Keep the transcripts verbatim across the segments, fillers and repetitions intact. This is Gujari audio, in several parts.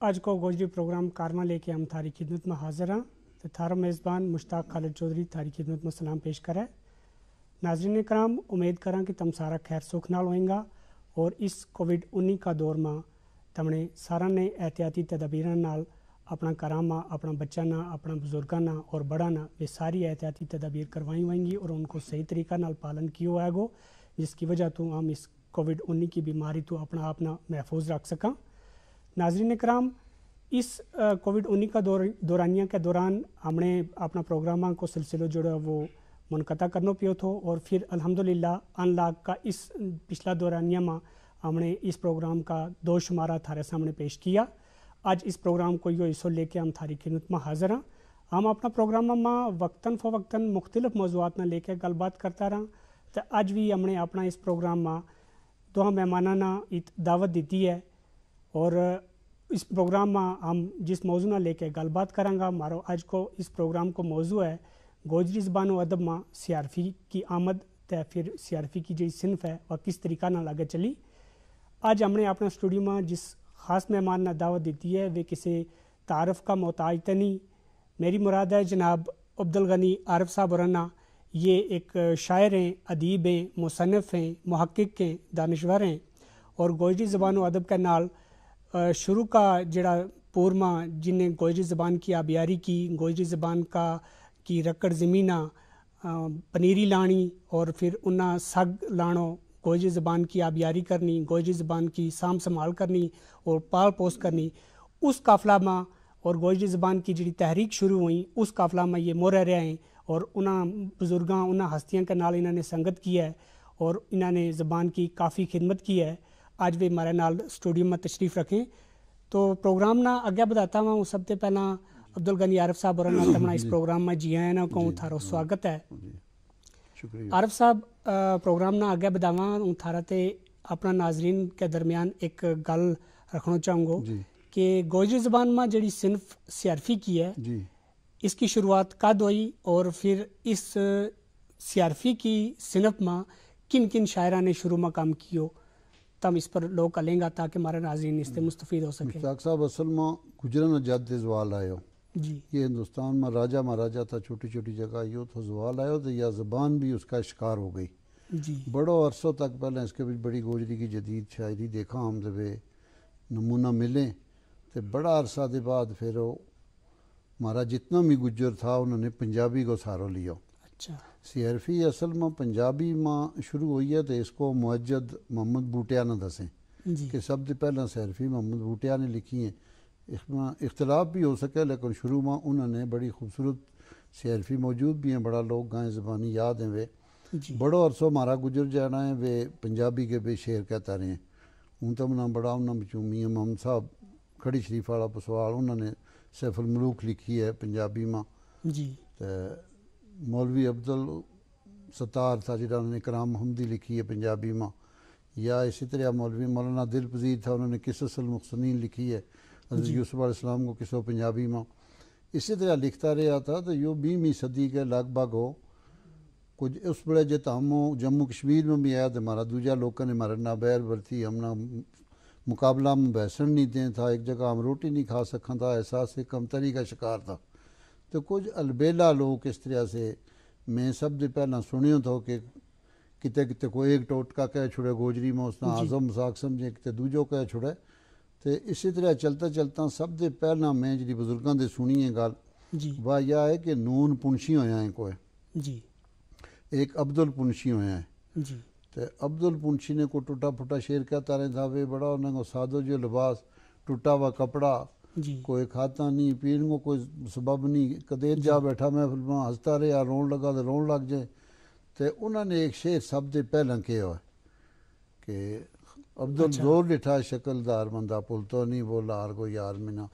اج کو گوجری پروگرام کارواں لے کے ہم تھاری خدمت ما حاضر ہاں۔ تے تھارا میزبان مشتاق خالد چوہدری تھاری خدمت ما سلام پیش کرے۔ ناظرین کرام، امید کراں کہ تم سارا خیر سکھ نال ہوئیں گا، اور اس کووڈ انی کا دور ما تمنے سارا نے احتیاطی تدابیراں نال اپنا کراں ما اپنا بچاں نا، اپنا بزرگاں نا اور بڑاں نا ویہ ساری احتیاطی تدابیر کروائی ہوئیں گی اور ان کو صحیح طریقہ نال پالن کیو ہوئے گو، جس کی وجہ تو ہم اس کووڈ انی کی بیماری تو اپنا آپ نا محفوظ رکھ سکاں۔ ناظرین کرام، اس کووڈ انی کا دورانیہ کے دوران ہم نے اپنا پروگراماں کو سلسلو جڑو ہے وہ منقطع کرنو پیو تھو، اور پھر الحمدللہ ان لاک کا اس پچھلا دورانیہ ما ہم نے اس پروگرام کا دو شمارہ تھارے سامنے پیش کیا۔ اج اس پروگرام کو یوہ حصو لے کے ہم تھاری خدمت ما حاضر ہاں۔ ہم اپنا پروگراماں ما وقتا فوقتا مختلف موضوعات نا لے کے گل بات کرتا رہاں۔ تے اج وی ہم نے اپنا اس پروگرام ما دواں مہماناں نا ات دعوت دتی ہے، اور اس پروگرام ما ہم جس موضوع نا لے کے گل بات کراں گا، مارو اج کو اس پروگرام کو موضوع ہے گوجری زبان و ادب ما سی آر فی کی آمد، تے پھر سی آر فی کی جیہی صنف ہے وہ کس طریقہ نال اگے چلی۔ اج ہم نے اپنا سٹوڈیو ما جس خاص مہمان نا دعوت دتی ہے وہ کسے تعارف کا محتاج تے نہیں۔ میری مراد ہے جناب عبدالغنی عارف صاحب ہوراں نا۔ یہ ایک شاعر ہیں، ادیب ہیں، مصنف ہیں، محقق ہیں، دانشور ہیں، اور گوجری زبان و ادب کے نال شروع کا جڑا پور ما جن نے گوجری زبان کی آبیاری کی، گوجری زبان کا کی رکڑ زمیناں پنیری لانی اور پھر انہاں سگ لانو، گوجری زبان کی آبیاری کرنی، گوجری زبان کی سام سنبھال کرنی اور پال پوس کرنی، اس قافلہ ما اور گوجری زبان کی جڑی تحریک شروع ہوئی، اس قافلہ ما یہ مورہ رہے ہیں، اور انہاں بزرگاں، انہاں ہستیاں کے نال انہاں نے سنگت کی ہے، اور انہاں نے زبان کی کافی خدمت کی ہے۔ اج وی ہمارے نال سٹوڈیو ما تشریف رکھیں۔ تو پروگرام نا اگے بدھاتا ہوں، سب تے پہلاں عبدالغنی عارف صاحب ہوراں نا تمنا اس پروگرام ما جی آیا نا کہوں، تھارو سواگت ہے۔ عارف صاحب، پروگرام نا اگے بدھاواں ہوں، تھارا تے اپنا ناظرین کے درمیان ایک گل رکھنو چاہوں گو کہ گوجری زبان ما جڑی صنف سی آر فی کی ہے، اس کی شروعات کد ہوئی اور پھر اس سی آر فی کی صنف ما کن کن شاعراں نے شروع ما کم کیو؟ تم اس پر لوگ کلیں گا تاکہ ہمارے ناظرین اس تے مستفید ہو سکیں۔ مشتاق صاحب، اصل ما گجراں نا جد تے زوال آیو۔ جی۔ یہ ہندوستان ما راجا مہاراجا تھا، چھوٹی چھوٹی جگہ یوہ تھو زوال آیو تو یا زبان بھی اس کا شکار ہو گئی۔ جی۔ بڑو عرصو تک پہلے اس کے بچ بڑی گوجری کی جدید شاعری دیکھا ہم تے ویہ نمونہ ملیں، تے بڑا عرصہ دے بعد پھر وہ ہمارا جتنا بھی گجر تھا انہوں نے پنجابی کو سہارو لیو۔ اچھا۔ سی آر فی اصل ما پنجابی ما شروع ہوئی ہے، تو اس کو معجد محمد بوٹیا نا دسیں کہ سب تے پہلاں سی آر فی محمد بوٹیا نے لکھی ہیں۔ اس ما اختلاف بھی ہو سکے، لیکن شروع ما انہوں نے بڑی خوبصورت سی آر فی موجود بھی ہیں، بڑا لوگ گائیں زبانی یاد ہیں ویہ۔ بڑو عرصو ہمارا گجر جانا ہے ویہ پنجابی کے بھی شعر کہتا رہے ہیں۔ ہوں تو منا بڑا انہاں بچوں میاں محمد صاحب کھڑی شریف والا پسوال، انہوں نے سیف الملوک لکھی ہے پنجابی ما۔ جی۔ تے مولوی عبدالستار تھا جڑا انہوں نے کرام محمدی لکھی ہے پنجابی ما۔ یا اسی طرح مولوی مولانا دل پذیر تھا، انہوں نے قصص المحسنین لکھی ہے، حضرت یوسف علیہ السلام کو قصو پنجابی ما۔ اسی طرح لکھتا رہیا تھا تو یوہ بیہویں صدی کے لگ بھگ ہو۔ کچھ اس بڑے جے تو ہم جموں کشمیر ما بھی آیا تو ہمارا دوجا لوکاں نے ہمارے نابیر برتی، ہم نا مقابلہ ما بحثن نہیں دیں تھا، ایک جگہ ہم روٹی نہیں کھا سکھاں تھا، احساس کمتری کا شکار تھا۔ تو کچھ البیلا لوگ اس طرح سے میں سب دے پہلاں سنیو تھو کہ کتے کتے کوئی ایک ٹوٹکا کہہ چھڑے گوجری ما، اس نا اعظم مساق سمجھیں، کتے دوجو کہہ چھڑے۔ تے اسی طرح چلتا چلتا سب دے پہلاں میں جڑی بزرگاں دے سنی ہے گل، جی۔ واہ یا ہے کہ نون پنشی ہویا ہیں کوئے۔ جی۔ ایک عبدالپنشی ہویا ہیں۔ جی۔ تے عبدالپنشی نے کوئی ٹوٹا پھوٹا شعر کہتا رہتا وے، بڑا انہاں کو سادو جو لباس، ٹوٹا ہوا کپڑا، جی۔ کوئی کھاتا نہیں، پین کو کوئی سبب نہیں، کدے جا بیٹھا محفل ما ہنستا رہیا، رون لگا تو رون لگ جائے۔ تے انہاں نے ایک شعر سب دے پہلاں کہیا ہوئے کہ عبدال زور ڈٹھا شکل دار بندہ، پل تو نہیں بولا ہر کو یار منا۔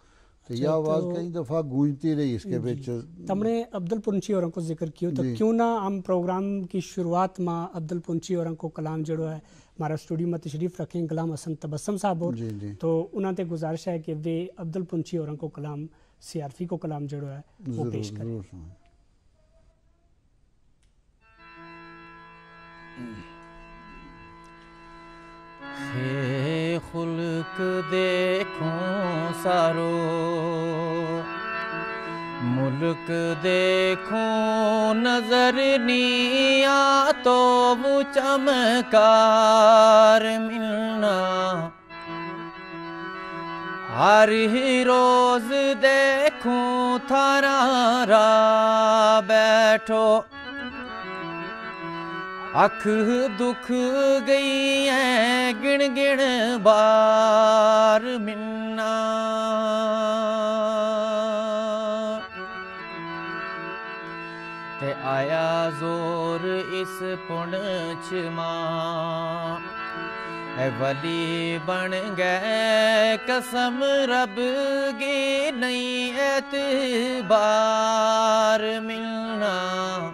تو یہ آواز کئی دفعہ گونجتی رہی اس کے بچ۔ تم نے عبدالپنچھی ہوراں کو ذکر کیو، تو کیوں نہ ہم پروگرام کی شروعات ما عبدالپنچھی ہوراں کو کلام جڑو ہے، ہمارا سٹوڈیو ما تشریف رکھیں غلام حسن تبسم صاحب ہو۔ جی، جی۔ تو انہاں تے گزارش ہے کہ ویہ عبدالپنچھی ہوراں کو کلام، سی آر فی کو کلام جڑو ہے، وہ پیش کریں۔ خلق دیکھوں سارو، ملک دیکھوں، نظر نی آ تو وہ چمکار ملنا۔ ہر ہی روز دیکھوں تھارا را بیٹھو، اکھ دکھ گئی ہے گن گن بار منا۔ تے آیا زور اس پنچ ما، اے ولی بن گئے قسم رب گی، نہیں اعتبار ملنا۔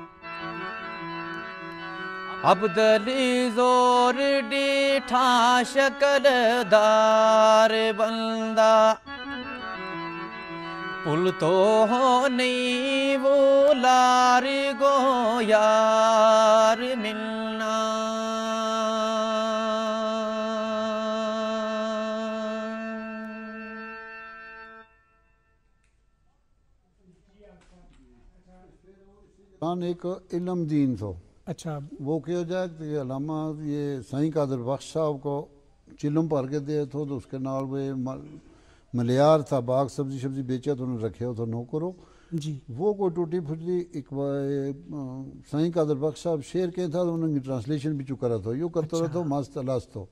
عبدلی زور ڈیٹھا شکل دار بندہ، پل تو ہو نہیں وہ لار گو یار ملنا۔ ایک علم دین تھو۔ اچھا۔ وہ کہو جائے کہ علامہ یہ سائیں قادر بخش صاحب کو چلم پر کے دے تھو تو اس کے نال وہ ملیار تھا، باغ سبزی سبزی بیچے تو انہوں نے رکھے ہو تھو نوکرو۔ جی۔ وہ کوئی ٹوٹی پھٹی ایک سائیں قادر بخش صاحب شعر کہہ تھا تو انہوں نے ٹرانسلیشن بھی چکا رہا تھو، یو کرتا رہا تھو مست الس تھو۔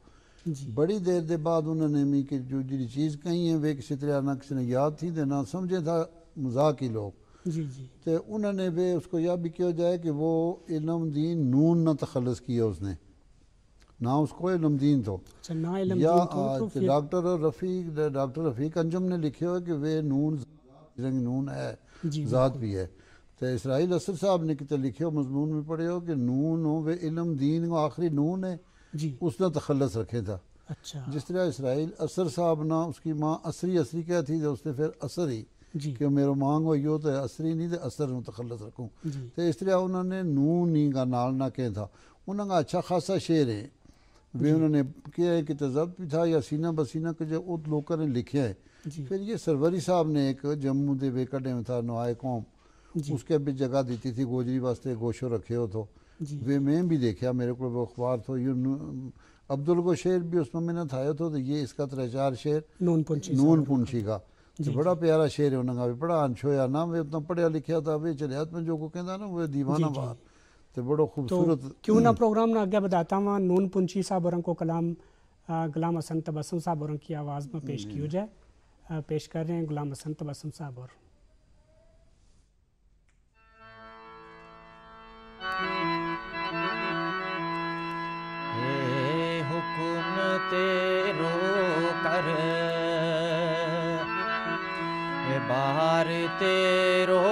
بڑی دیر دے بعد انہوں نے می کہ جو جڑی چیز کہیں ہے وہ کسی طرح نہ کسی نے یاد تھی دے نہ سمجھے تھا، مذاق ہی لوگ۔ جی جی۔ تے انہوں نے وہ اس کو یا بھی کہو جائے کہ وہ علم دین نون نہ تخلص کیا اس نے، نہ اس کو علم دین تھو۔ اچھا، نہ علم یا دین تھو تو آ، تے پھر ڈاکٹر رفیق، ڈاکٹر رفیق انجم نے لکھے ہوئے کہ وہ نون، رنگ نون ہے، جی، ذات بالکل۔ بھی ہے۔ تے اسرائیل اثر صاحب نے کتے لکھے ہو مضمون میں پڑھے ہو کہ نون ہو وہ علم دین کو آخری نون ہے، جی۔ اس نے تخلص رکھے تھا۔ اچھا۔ جس طرح اسرائیل اثر صاحب نا اس کی ماں اسری اسری کہتی تھی، اس نے پھر اثر ہی جی۔ کہ میرو مانگ ہوئی ہو تو اسری نہیں تو اثر نو تخلص رکھوں۔ جی۔ تو اس طرح انہوں نے نون نہیں کا نال نہ کہہ تھا۔ انہوں کا اچھا خاصا شعر ہے۔ وہ جی۔ انہوں نے کہہ ہے کہ تضبط بھی تھا یا سینہ بسینہ کہ جو ات لوکاں نے لکھیا ہے۔ جی۔ پھر یہ سروری صاحب نے ایک جموں دے وے کڈے میں تھا نوائے قوم، جی۔ اس کے بھی جگہ دیتی تھی گوجری واسطے، گوشو رکھے ہو تو۔ جی۔ وہ میں بھی دیکھیا، میرے کو وہ اخبار تھو، یہ نو-، عبدالگو شعر بھی اس میں محنت آیا تھو، تو یہ اس کا ترے چار شعر نون پنچھی نون صاحب پنچھی کا۔ جی، تو بڑا جی۔ پیارا شعر ہے، انہوں کا بھی بڑا انچھویا نا، وہ اتنا پڑھیا لکھیا تھا، وہ چلے ہاتھ میں جو کو کہندا نا، وہ دیوانہ جی، جی۔ بات۔ تو بڑا تو خوبصورت۔ کیوں نہ پروگرام نا آگے بداتا ہوا، نون پنچھی صاحب اور کو کلام، آ، غلام حسن تبسم صاحب اور کی آواز میں پیش جی۔ کیو جائے۔ آ، پیش کر رہے ہیں غلام حسن تبسم صاحب اور۔ اے حکم تیرو کر، اے بار تیرو،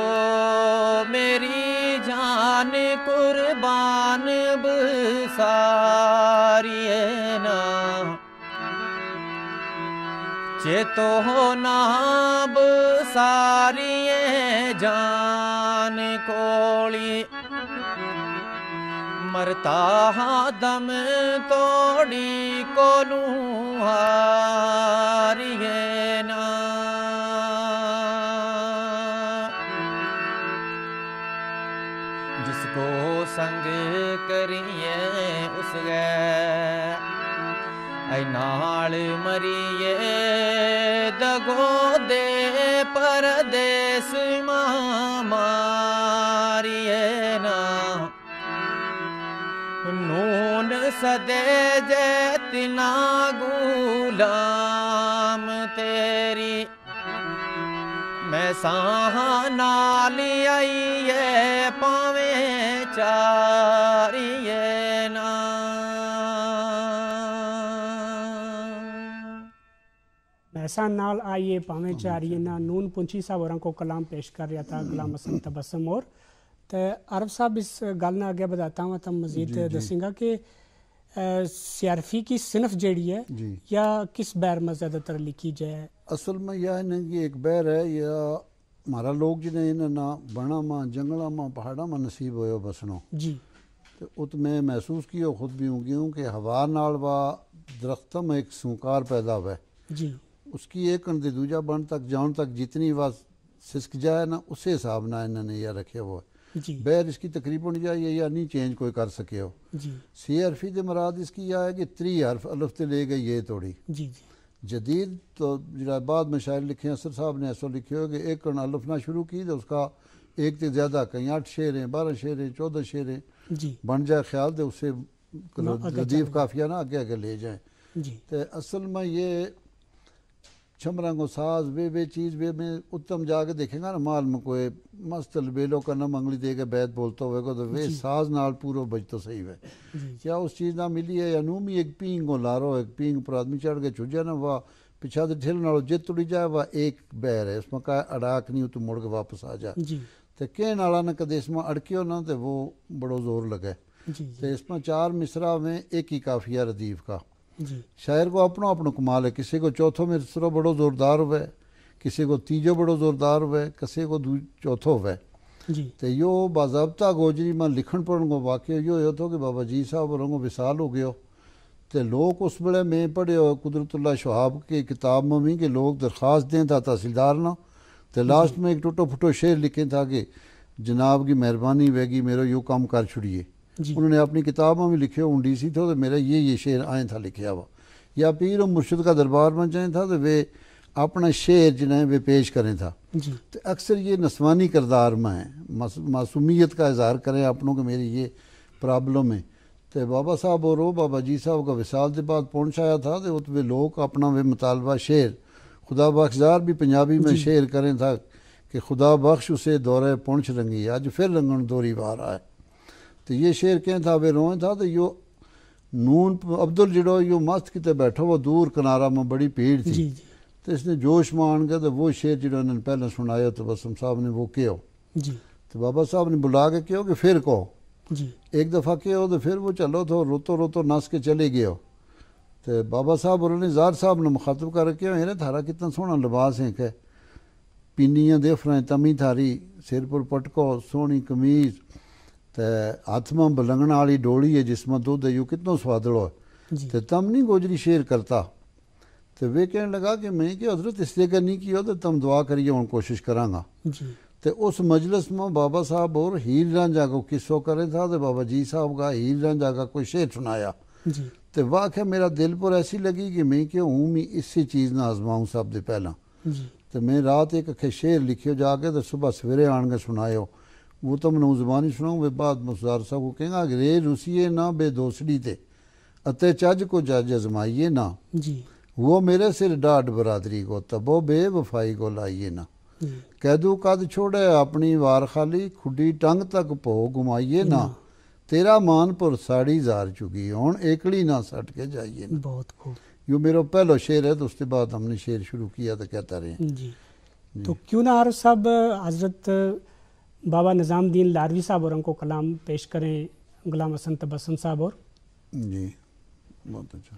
میری جان قربان بساری ہے نا۔ چیتو ہو ناب ساری جان کولی، مرتا ہاں دم توڑی کولوں ہاری ہے نا۔ جس کو سنگ کریے اس گئے، اے نال مریے دگو دے پردیس ماں ماریے نا۔ نون سدے جے تنا غلام تیری، میں ساہاں نال آئیے پاویں چاریے نا۔ میسا نال آئیے پاویں چاریے نا۔ نون پنچھی صاحب ہوراں کو کلام پیش کر رہیا تھا، غلام حسن تبسم اور۔ تے عارف صاحب، اس گل نا اگے بداتا ہوا تم مزید جی، جی۔ دسیں گا کہ، اے، سیارفی کی صنف جیڑی ہے جی۔ یا کس بحر ما زیادہ تر لکھی جائے؟ اصل ما یا ہے نا کہ ایک بحر ہے یا مارا لوگ جنہیں انہاں نا بنا ما، جنگلاں ما، پہاڑاں ما نصیب ہویو بسنو۔ جی۔ ات میں محسوس کیو خود بھی ہوں گیوں کہ ہوا نال وا درختاں میں ایک سونکار پیدا ہوئے۔ جی۔ اس کی ایک کن دے دوجا بن تک جان تک جتنی وا سسک جائے نا، اسے حساب نال انہاں نے یا رکھیا ہوا ہے۔ جی۔ بہر اس کی تقریبا یا یا نہیں چینج کوئی کر سکے ہو۔ جی۔ سی حرفی دے مراد اس کی یا ہے کہ تری حرف الف تے لے گئی یہ توڑی۔ جی جی۔ جدید تو جڑا بعد میں شاعر لکھے ہیں، اسد صاحب نے ایسو لکھے ہو کہ ایک کن الف نہ شروع کی تو اس کا ایک تے زیادہ کہیں آٹھ شعر ہیں، بارہ شعر ہیں، چودہ شعر ہیں۔ جی۔ بن جائے خیال تے اسے ردیف قافیہ نا اگے اگے لے جائیں۔ جی۔ تے اصل میں یہ چھمراں کو ساز وے وے چیز وے میں اتم جا کے دیکھیں گا نا، مال میں کوئی مست البیلو کا نہ منگلی دے کے بیت بولتا ہوئے کو تو وے ساز نال پورو بجتو صحیح ہوئے۔ کیا اس چیز نہ ملی ہے یا نو می ایک پینگ کو لارو ایک پینگ پر آدمی چڑھ کے چھجا نا وا پچھا دے ٹھیل نالو جت تڑی جائے وا ایک بہر ہے، اس میں کہا اڑاک نہیں ہو تو مڑ کے واپس آ جا۔ تے کہن آلا نہ کدے اس میں اڑکیو نہ تے وہ بڑو زور لگے۔ تے اس میں چار مصرا میں ایک ہی قافیہ ردیف کا۔ شاعر کو اپنو اپنو کمال ہے، کسے کو چوتھو مصرو بڑو زوردار ہوئے، کسے کو تیجو بڑو زوردار ہوئے، کسے کو چوتھو ہوئے۔ تے یوہ باضابطہ گوجری ما لکھن پڑھن کو واقعو یوہ یوہ تھو کہ بابا جی صاحب اور رنگو وصال ہو گیو۔ تے لوک اس بڑے میں پڑھے ہوئے قدرت اللہ شہاب کے کتاب ما بھی کہ لوک درخواست دیں تھا تحصیلدار نا۔ تے لاسٹ میں ایک ٹوٹو پھٹو شعر لکھیں تھا کہ جناب کی مہربانی ہوئے گی میرو یوہ کم کر چھڑیے۔ انہوں نے اپنی کتاب ما بھی لکھے ہوں ڈی سی تھو تو میرا یہ یہ شعر آئیں تھا لکھیا ہوا۔ یا پیر و مرشد کا دربار ما جائیں تھا تو ویہ اپنا شعر جنہیں ویہ پیش کریں تھا۔ تو اکثر یہ نسوانی کردار ما ہیں، معصومیت کا اظہار کریں اپنوں کہ میری یہ پرابلم ہے۔ تے بابا صاحب اور وہ بابا جی صاحب کا وصال دے بعد پہنچ آیا تھا تے ات ویہ لوک اپنا ویہ مطالبہ شعر خدا بخش زار بھی پنجابی میں شعر کریں تھا کہ خدا بخش اسے دورہ پہنچ رنگی اج پھر رنگن دوری وار آئے۔ تے یہ شعر کہیں تھا ویہ روئیں تھا تے یوہ نون عبدل جڑو یوہ مست کتے بیٹھو وہ دور کنارا میں بڑی پیڑ تھی۔ تے اس نے جوش ما آن گیا تے وہ شعر جڑو انہوں نے پہلاں سنایا تو بسم صاحب نے وہ کہو۔ تے بابا صاحب نے بلا کے کہو کہ پھر کہو۔ ایک دفعہ کہو تے پھر وہ چلو تھو روتو روتو نس کے چلے گیو۔ تے بابا صاحب اور نے زار صاحب نے مخاطب کر کے کہو ایرے تھارا کتنا سونا لباس ہیں کہ پینیاں دے فرائیں تمی تھاری سر پر پٹکو سونی قمیض تے ہاتھ ما بلنگنا آلی ڈولی ہے جس ما دودھ ہے یوہ کتنو سوادلو ہے۔ تے تم نہیں گوجری شعر کرتا۔ تے ویہ کہن لگا کہ میں کہ حضرت اس جگہ نہیں کیو تے تم دعا کریے ہن کوشش کراں گا۔ تے اس مجلس ما بابا صاحب اور ہیر رانجا کو قصو کریں تھا تے بابا جی صاحب کا ہیر رانجا کا کوئی شعر سنایا۔ تے واہ کہ میرا دل پر ایسی لگی کہ میں کہ ہوں میں اسی چیز نا آزماؤں سب دے پہلاں۔ تے میں رات ایک اکھے شعر لکھیو جا کے تے صبح سویرے آن کے سنایو۔ وہ تم نو زبانی سناؤں ویہ بعد مصدار صاحب کو کہیں گا کہ رے روسیے نا بے دوسڑی تے اتے چج کو جج ازمائیے نا۔ وہ میرے سر ڈاڈ برادری کو تبو بے وفائی کو لائیے نا۔ قیدو قد چھوڑے اپنی وار خالی کھڈی ٹنگ تک پو گمائیے نا۔ تیرا مان پر ساڑی زار چکی ہن ایکڑی نا سٹ کے جائیے نا۔ بہت خوب۔ یوہ میرو پہلو شعر ہے تو اس تے بعد ہم نے شعر شروع کیا تو کہتا رہے ہیں۔ جی۔ تو کیوں نہ عارف صاحب حضرت بابا نظام دین لاروی صاحب اور ان کو کلام پیش کریں؟ غلام حسن تبسم صاحب اور جی، بہت اچھا۔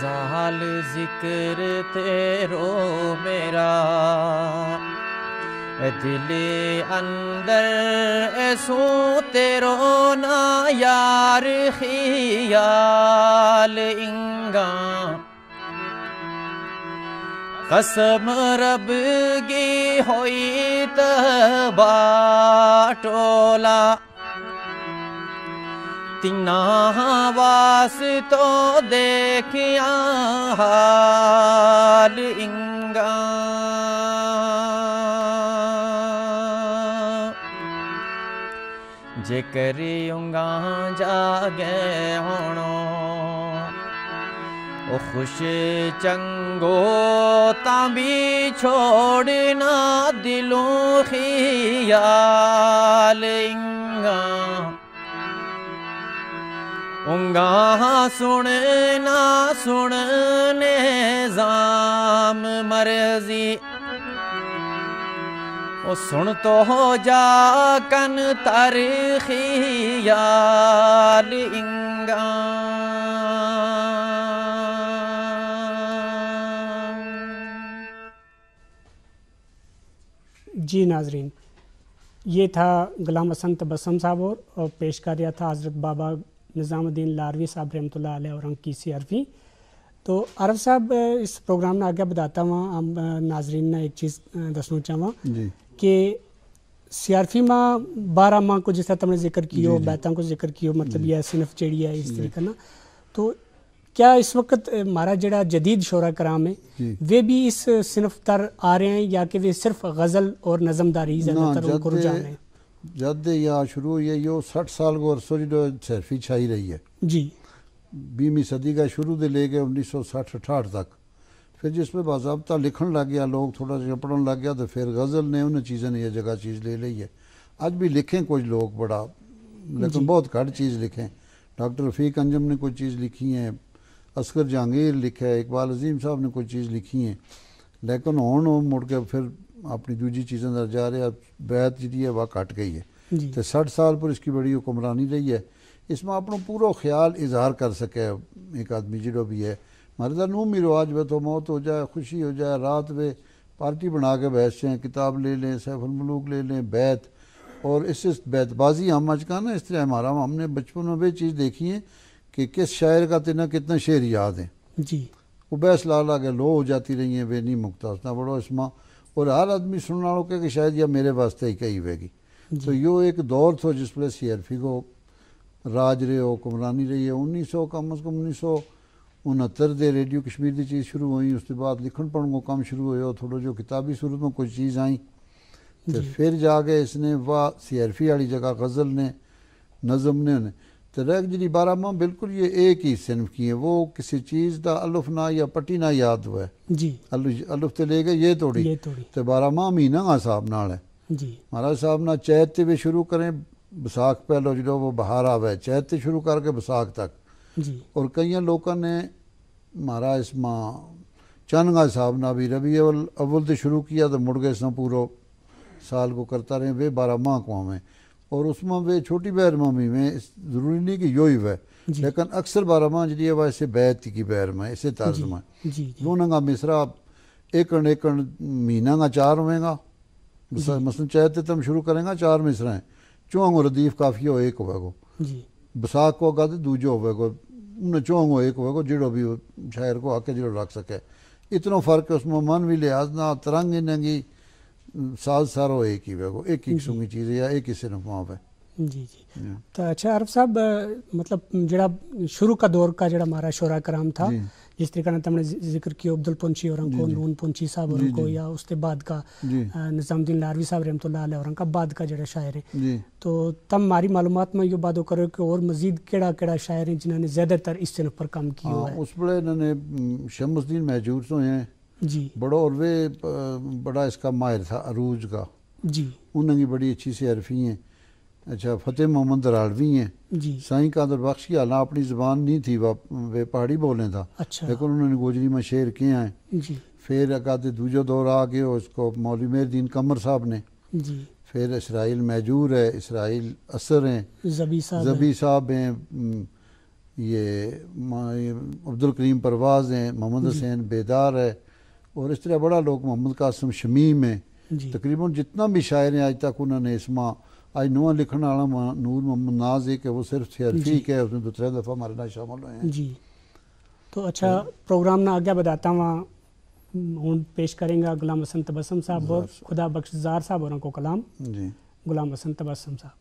زال ذکر تیرو میرا دل اندر ایسو تیرو نا یار خیال انگا قسم رب گی ہوئی تبا ٹولا تینا واسطو دیکھیا حال انگا جے کری انگا جاگے ہونو او خوش چنگو تاں بھی چھوڑنا دلوں خیال انگا انگا سننا سننے زام مرضی او سن تو ہو جا کن تر خیال انگا جی ناظرین، یہ تھا غلام حسن تبسم صاحب اور پیش کر رہا تھا حضرت بابا نظام الدین لاروی صاحب رحمۃ اللہ علیہ اور ان کی سیارفی۔ تو عارف صاحب، اس پروگرام نا آگے بداتا ہوا ہم ناظرین نا ایک چیز دسنا چاہواں کہ سیارفی ما بارہ ماہ کو جس طرح تم نے ذکر کیو، بیتاں کو ذکر کیو، مطلب یہ صنف چیڑی ہے اس طریقے نا۔ تو کیا اس وقت مارا جڑا جدید شعرا کرام ہے، وہ بھی اس صنف تر آ رہے ہیں یا کہ وہ صرف غزل اور نظم داری زیادہ تر ان کو رجحان ہے؟ جد یا شروع ہوئی ہے یو سٹھ سال کو عرصو جی سیرفی چھائی رہی ہے۔ جی۔ بیہمی صدی کا شروع دے لے کے انیس سو سٹھ اٹھاٹھ تک، پھر جس پہ باضابطہ لکھن لگ گیا، لوگ تھوڑا جہا پڑھن لگ گیا تو پھر غزل نے انہاں چیزاں نے یہ جگہ چیز لے لئی ہے۔ اج بھی لکھیں کچھ لوگ بڑا، لیکن بہت گھٹ چیز لکھیں۔ ڈاکٹر رفیق انجم نے کوئی چیز لکھی ہیں، اصغر جہانگیر لکھا ہے، اقبال عظیم صاحب نے کوئی چیز لکھی ہیں، لیکن ہن وہ مڑ کے پھر اپنی دوجی چیزاں دا جا رہے۔ بیت جی ہے وہ گھٹ گئی ہے۔ تے سٹھ سال پر اس کی بڑی حکمرانی رہی ہے۔ اس ما اپنو پورو خیال اظہار کر سکے ایک آدمی جڑو بھی ہے۔ مارے دا نو می رواج وے تو موت ہو جائے، خوشی ہو جائے، رات وے پارٹی بنا کے بحث ہیں، کتاب لے لیں، سیف الملوک لے لیں، بیت۔ اور اس اس بیت بازی ہم اج کا نا اس طرح ہمارا ہم نے بچپن میں وہ چیز دیکھی ہے کہ کس شاعر کا تینا کتنا شعر یاد ہیں۔ جی۔ وہ بحث لا لا کے لو ہو جاتی رہی ہیں، وہ نہیں مکتا اس نا بڑو اس ما۔ اور ہر آدمی سننا لو کہ شاید یہ میرے واسطے ہی کہی ہوئے گی۔ تو یو ایک دور تھو جس پلے سیرفی کو راج رہے ہو، حکمرانی رہی ہے۔ انیس سو کم از کم انیس سو انہتر دے ریڈیو کشمیر دی چیز شروع ہوئی، اس کے بعد لکھن پڑھن کو کم شروع ہویا، تھوڑو جو کتابی صورت میں کچھ چیز آئیں۔ تے پھر جا کے اس نے واہ سیرفی والی جگہ غزل نے، نظم نے انہیں۔ تے رہ جی بارہ ماہ بالکل یہ ایک ہی صنف کی ہیں، وہ کسی چیز دا الف نہ یا پٹی نہ یاد ہوا ہے۔ جی۔ الف تے لے گئے یہ توڑی۔ تے بارہ ماہ مہینہ کا حساب نال ہے۔ جی۔ مہاراج صاحب نا چیت تے بھی شروع کریں، بساکھ پہلو جدو وہ بہار آوے، چیت تے شروع کر کے بساکھ تک۔ جی۔ اور کئیاں لوکاں نے مہارا اس ما چن کا حساب نا بھی ربیع اول اول تے شروع کیا تو مڑ گئے اس نا پورو سال کو کرتا رہے، وہ بارہ ماہ کو آویں۔ اور اس ما وہ چھوٹی بحر ما بھی میں ضروری نہیں کہ یوہی ہوئے، لیکن اکثر بارہ ماہ جدی ہے وہ اسے بیت کی بحر ما اسے طرز ما۔ جی۔ دونوں کا مصرا ایکن ایکن مہینہ کا چار ہوئیں گا۔ مثلاً چاہے تے تم شروع کریں گا چار مصرا ہیں، چونگو ردیف کافی ہو ایک ہوئے گو۔ جی۔ بساکھ کو اگا تے دوجو ہوئے گو۔ انہیں چونگو ایک ہوئے گو جڑو بھی شاعر کو حق جڑو رکھ سکے۔ اتنو فرق ہے اس میں من بھی لحاظ نہ ترنگ انہیں گی ساز سارو ایک ہی ہوئے گو، ایک ایک سنگی چیز ہے یا ایک ہی صنف ماں پہ۔ جی جی۔ تو اچھا عارف صاحب، مطلب جڑا شروع کا دور کا جڑا ہمارا شعرا کرام تھا، جس طریقہ نے تم نے ذکر کیو عبدالپنچی اور ان کو، نون پنچی صاحب اور ان کو، یا اس کے بعد کا نظام الدین لاروی صاحب رحمۃ اللہ علیہ اور ان کا بعد کا جڑا شاعر ہیں، تو تم ہماری معلومات میں یوہ بات کرو کہ اور مزید کیڑا کیڑا شاعر ہیں جنہوں نے زیادہ تر اس صنف پر کام کیو ہے؟ اس بڑے انہوں نے شمس الدین مہجور سو ہیں۔ جی۔ بڑا اور وہ بڑا اس کا ماہر تھا عروج کا۔ جی۔ انہوں نے بڑی اچھی سی عرفی ہیں۔ اچھا، فتح محمد دراڑوی ہیں۔ جی۔ سائیں قادر بخش کی حالانکہ اپنی زبان نہیں تھی، وہ پہاڑی بولیں تھا، لیکن انہوں نے گوجری میں شعر کیا ہیں۔ جی۔ پھر اگا تے دوجو دور آ گیو اس کو مولوی مہر الدین قمر صاحب نے۔ جی۔ پھر اسرائیل مہجور ہے، اسرائیل اثر ہیں، زبی صاحب ہیں۔ یہ عبدالکریم پرواز ہیں، محمد حسین بیدار ہے، اور اس طرح بڑا لوگ محمد قاسم شمیم ہیں۔ تقریباً جتنا بھی شاعر ہیں آج تک انہوں نے اس ماہ آج نواں لکھن والا نور محمد ناز ہے کہ وہ صرف تھے عرفی کے اس نے دوسرے دفعہ ہمارے نال شامل ہوئے ہیں۔ جی۔ تو اچھا، پروگرام نا آگے بداتا ہوا ہوں پیش کریں گا غلام حسن تبسم صاحب اور خدا بخش زار صاحب اور ان کو کلام۔ جی۔ غلام حسن تبسم صاحب۔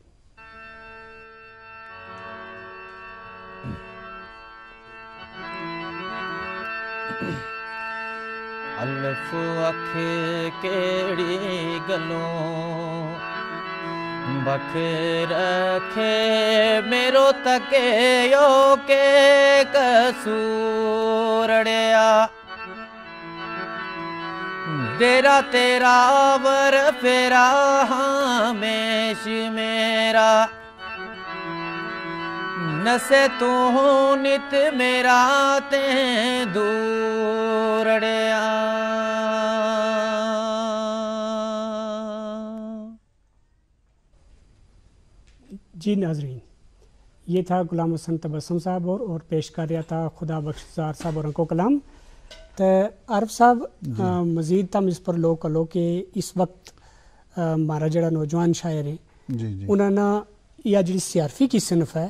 الف اکھ کیڑی گلوں بکھ رکھے میرو تکے یو کے قصور اڑیا۔ دیرا تیرا ور پھیرا ہمیش میرا نسے تو ہوں نت میرا تیں دور اڑیا۔ جی ناظرین، یہ تھا غلام حسن تبسم صاحب اور اور پیش کر رہا تھا خدا بخش زار صاحب اور ان کو کلام۔ تو عارف صاحب، مزید تم اس پر لو کلو کہ اس وقت مارا جیڑا نوجوان شاعر ہیں، انہاں نا یا جیڑی سیارفی کی صنف ہے،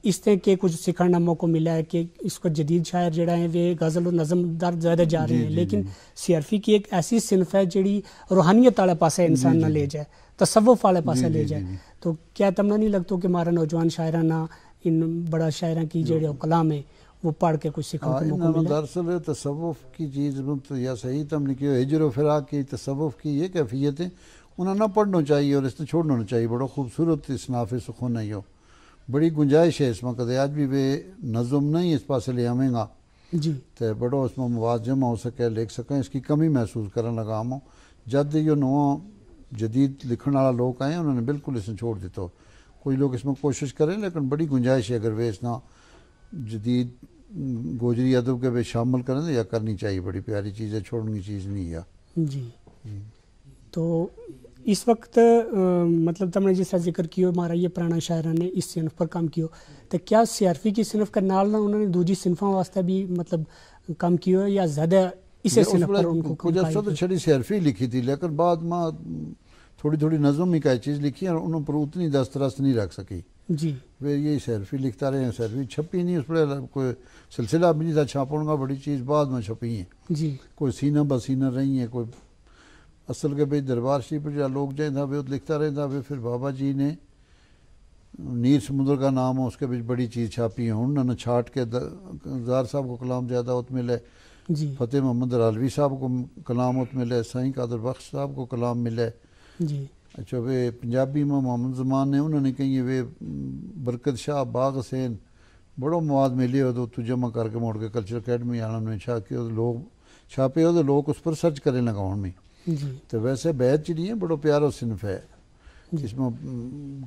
اس تے کے کچھ سکھن نا موقع ملا ہے کہ اس کو جدید شاعر جیڑا ہیں وہ غزل و نظم دار زیادہ جا رہے ہیں، لیکن سیارفی کی ایک ایسی صنف ہے جیڑی روحانیت آلے پاسے انسان نا لے جائے، تصوف آلے پاسے لے جائے۔ تو کیا تم نا نہیں لگتو کہ مارا نوجوان شاعراں نا ان بڑا شاعراں کی جیڑے کلام ہیں وہ پڑھ کے کچھ سکھن کو موقع ملا؟ دراصل تصوف کی چیز یا صحیح تم نے کہیو ہجر و فراق کی تصوف کی یہ کیفیت ہے، انہاں نہ پڑھنو چاہیے اور اس نے چھوڑنو نہ چاہیے۔ بڑو خوبصورت اصناف سخن ہے یو، بڑی گنجائش ہے اس ما کدے آج بھی ویہ نظم نہیں اس پاسے لے آویں گا۔ تے بڑو اس ما مواد جمع ہو سکے، لکھ سکیں، اس کی کمی محسوس کرن لگا ہم۔ جد یو نواں جدید لکھن والا لوگ آئے انہوں نے بالکل اس نے چھوڑ دیتا ہو۔ کوئی لوگ اس ما کوشش کریں لیکن بڑی گنجائش ہے اگر ویہ اس نا جدید گوجری ادب کے ویہ شامل کریں یا کرنی چاہیے، بڑی پیاری چیز ہے، چھوڑنی چیز نہیں ہے۔ جی۔ تو اس وقت مطلب تم نے جس طرح ذکر کیو مارا یہ پرانا شاعراں نے اس صنف پر کم کیو، تو کیا سیارفی کی صنف کے نال نہ انہوں نے دوجی صنفاں واسطے بھی مطلب کم کیو یا زیادہ اسے صنف پر ان کو کم کیو؟ چھڑی سیارفی لکھی تھی لیکن بعد ما تھوڑی تھوڑی نظم ہی کائی چیز لکھی ہے انہوں پر اتنی دسترس نہیں رکھ سکی۔ جی۔ پھر یہ سیارفی لکھتا رہے ہیں، سیارفی چھپی نہیں اس پر کوئی سلسلہ بھی نہیں تھا چھاپن کا، بڑی چیز بعد ما چھپی ہیں۔ جی۔ کوئی سینہ بہ سینہ رہی ہیں کوئی اصل کے بھئی دربار شریف پر جا لوگ جائیں تھا ویہ لکھتا رہے تھا ویہ پھر بابا جی نے نیر سمندر کا نام ہے اس کے بچ بڑی چیز چھاپی ہے ہن نہ چھاٹ کے زار صاحب کو کلام زیادہ ات ملے۔ جی۔ فتح محمد رالوی صاحب کو کلام ات ملے، سائیں قادر بخش صاحب کو کلام ملے۔ جی۔ اچھا ویہ پنجابی ما محمد زمان نے انہوں نے کہیں ویہ برکت شاہ باغ حسین بڑو مواد ملے ہو تو جمع کر کے موڑ کے کلچر اکیڈمی آنا نے چھاپے ہو تو لوگ اس پر سرچ کریں لگا ہن میں۔ تو ویسے بیت چڑی ہیں بڑو پیارو صنف ہے، اس میں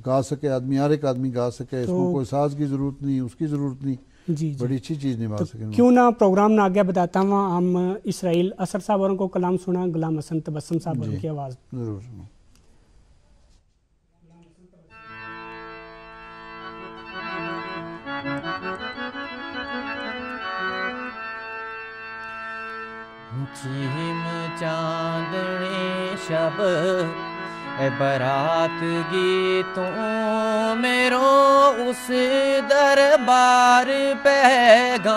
گا سکے آدمی، ہر ایک آدمی گا سکے، اس میں کوئی ساز کی ضرورت نہیں، اس کی ضرورت نہیں۔ جی جی۔ بڑی اچھی چیز نہیں بات سکے۔ کیوں نہ پروگرام نہ آگے بتاتا ہوں ہم اسرائیل اثر صاحب اور کو کلام سنا غلام حسن تبسم صاحب اور کی آواز۔ ضرور سنو۔ چیم چاندنی شب، اے برات گی توں میرو اس دربار پیغام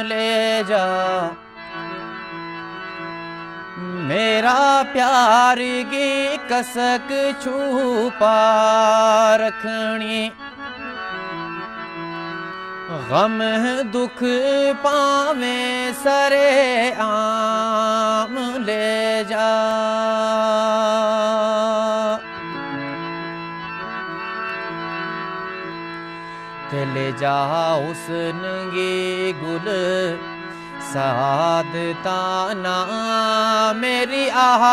لے جا۔ میرا پیار گی کسک چھوپا رکھنی، غم دکھ پاویں سرے عام لے جا۔ تے لے جا حسن گی گل سعادتاں نا، میری آہ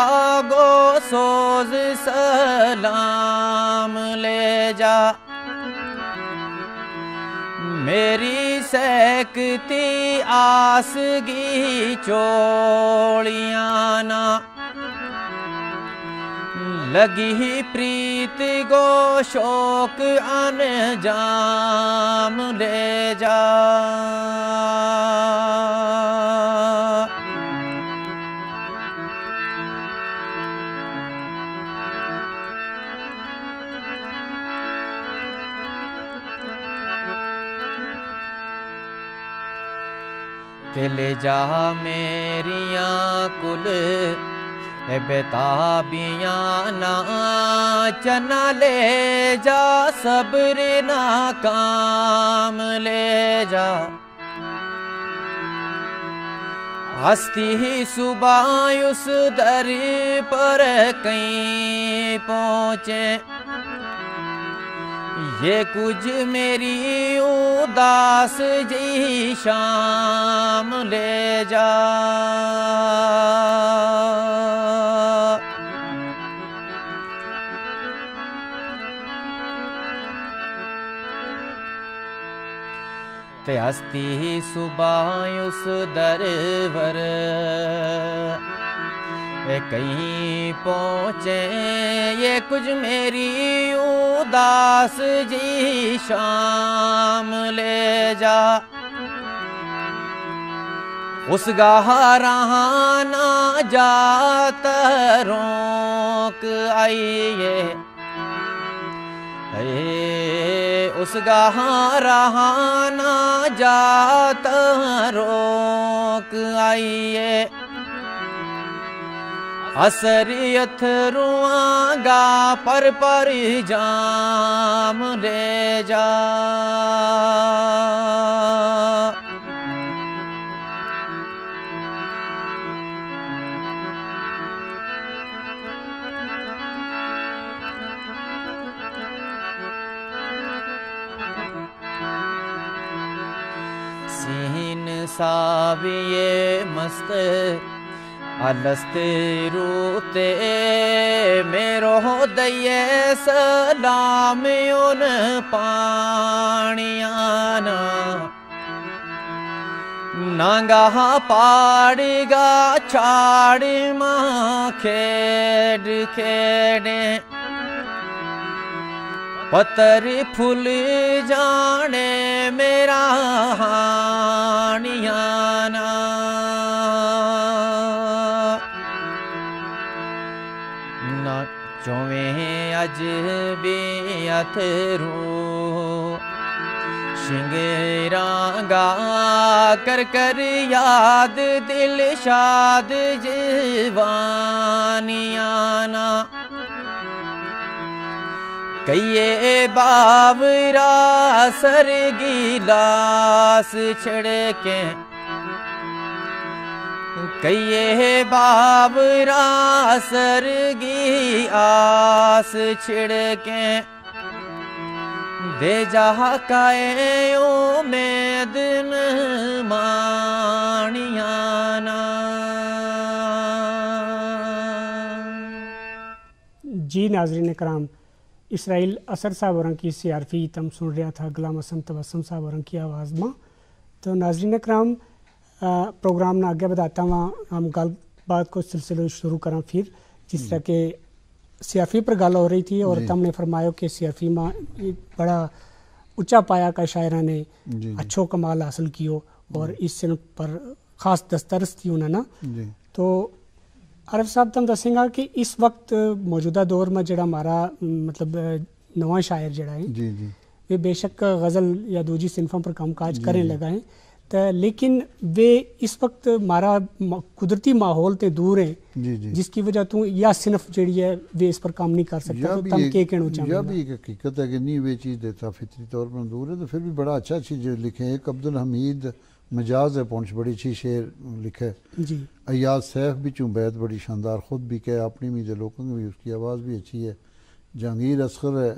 گو سوز سلام لے جا۔ میری سہکتی آس گی چوڑیاں نا، لگی پریت گو شوق انجام لے جا۔ تے لے جا میریاں کل بتابیاں نا، چنا لے جا صبر نا کام لے جا۔ ہستی ہی صبح اس در پر کہیں پہنچے، یہ کچھ میری اداس جی شام لے جا۔ تے ہستی صبح اس درور کہیں پہنچے، یہ کچھ میری اداس جی شام لے جا۔ اس گاہ رہانا جات روک آئیے۔ اے اس گاہ رہانا جات روک آئیے۔ عصریت رواں گا پر پر جام لے جا۔ سین ساویے مست الست روتے، میرو دئیے سلام ان پانیاں نا۔ نانگا پاڑی گا چھاڑی ماں کھیڈ کھیڈیں، پتر پھل جانے میرا ہانیاں نا۔ نہ چویں اج بھی اتھرو شنگراں گا، کر کر یاد دل شاد جوانیاں نا۔ کہیے باورا سر گلاس چھڑکیں، کہیے باورا سر گی آس چھڑکیں، دے جا کائے امید نہ مانیاں نا۔ جی ناظرین کرام، اسرائیل اثر صاحب ہوراں کی سیارفی تم سن رہیا تھا غلام حسن تبسم صاحب ہوراں کی آواز ما۔ تو ناظرین کرام، آ، پروگرام نا اگے بدھاتا ہواں، ہم گل بات کو سلسلو شروع کراں پھر، جس طرح کہ سیارفی پر گل ہو رہی تھی اور تم نے فرمایو کہ سیارفی ما ایک بڑا اچا پایا کا شاعراں نے اچھو کمال حاصل کیو اور اس صنف پر خاص دسترس تھی انہاں نا۔ تو عارف صاحب تم دسیں گا کہ اس وقت موجودہ دور ما جڑا ہمارا، مطلب، نواں شاعر جڑا ہے، جی جی، ویہ بے شک غزل یا دوجی صنفاں پر کام کاج کریں لگا ہیں، تے لیکن ویہ اس وقت ہمارا م-، قدرتی ماحول تے دور ہیں، جی جی، جس کی وجہ تو یا صنف جڑی ہے ویہ اس پر کام نہیں کر سکتا۔ تو تم کے کہنو چاہتے ہیں؟ یہ بھی ایک حقیقت ہے کہ نہیں، ویہ چیز دیتا فطری طور پر دور ہے، تو پھر بھی بڑا اچھا چیز لکھے۔ ایک عبدالحمید مجاز ہے پونچھ، بڑی اچھی شعر لکھے۔ جی۔ ایاز سیف بھی چوں بیت بڑی شاندار، خود بھی کہے، اپنی بھی دے لوکاں کی بھی، اس کی آواز بھی اچھی ہے۔ جہانگیر اصغر ہے،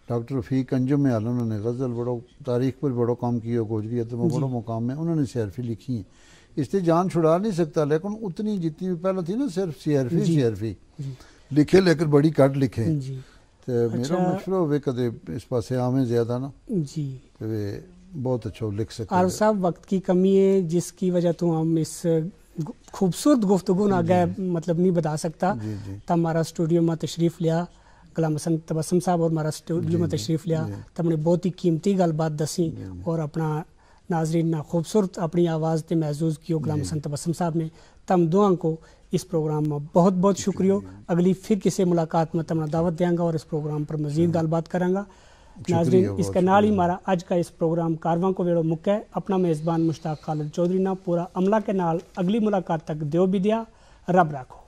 ڈاکٹر رفیق انجم ہے، انہوں نے غزل بڑو، تاریخ پر بڑو کام کیو، گوجری ادب میں بڑو مقام ہے، انہوں نے سیارفی لکھی ہیں۔ اس تے جان چھڑا نہیں سکتا، لیکن اتنی جتنی بھی پہلا تھی نا، صرف سیارفی، سیارفی لکھے، لیکن بڑی کٹ لکھے۔ جی۔ تے میرا مشورہ ہووے کدے اس پاسے آویں زیادہ نا۔ جی۔ تے ویہ بہت اچھو لکھ سکے۔ عارف صاحب، وقت کی کمی ہے، جس کی وجہ تو ہم اس گ-، خوبصورت گفتگو نا آگے، مطلب، نہیں بتا سکتا۔ جی جی۔ تم ہمارا اسٹوڈیو ما تشریف لیا، غلام حسن تبسم صاحب، اور ہمارا اسٹوڈیو ما تشریف لیا، تم نے بہت ہی قیمتی گل بات دسی اور اپنا ناظرین نا خوبصورت اپنی آواز تے محظوظ کیو غلام حسن تبسم صاحب نے۔ تم دواں کو اس پروگرام ما بہت بہت شکریو۔ اگلی پھر کسے ملاقات ما تم نا دعوت دیاں گا اور اس پروگرام پر مزید گل بات کراں گا۔ ناظرین، اس کے نال ہی ہمارا اج کا اس پروگرام کارواں کو ویڑو مکے۔ اپنا میزبان مشتاق خالد چوہدری نا پورا عملہ کے نال اگلی ملاقات تک دیو بھی دیا، رب رکھو۔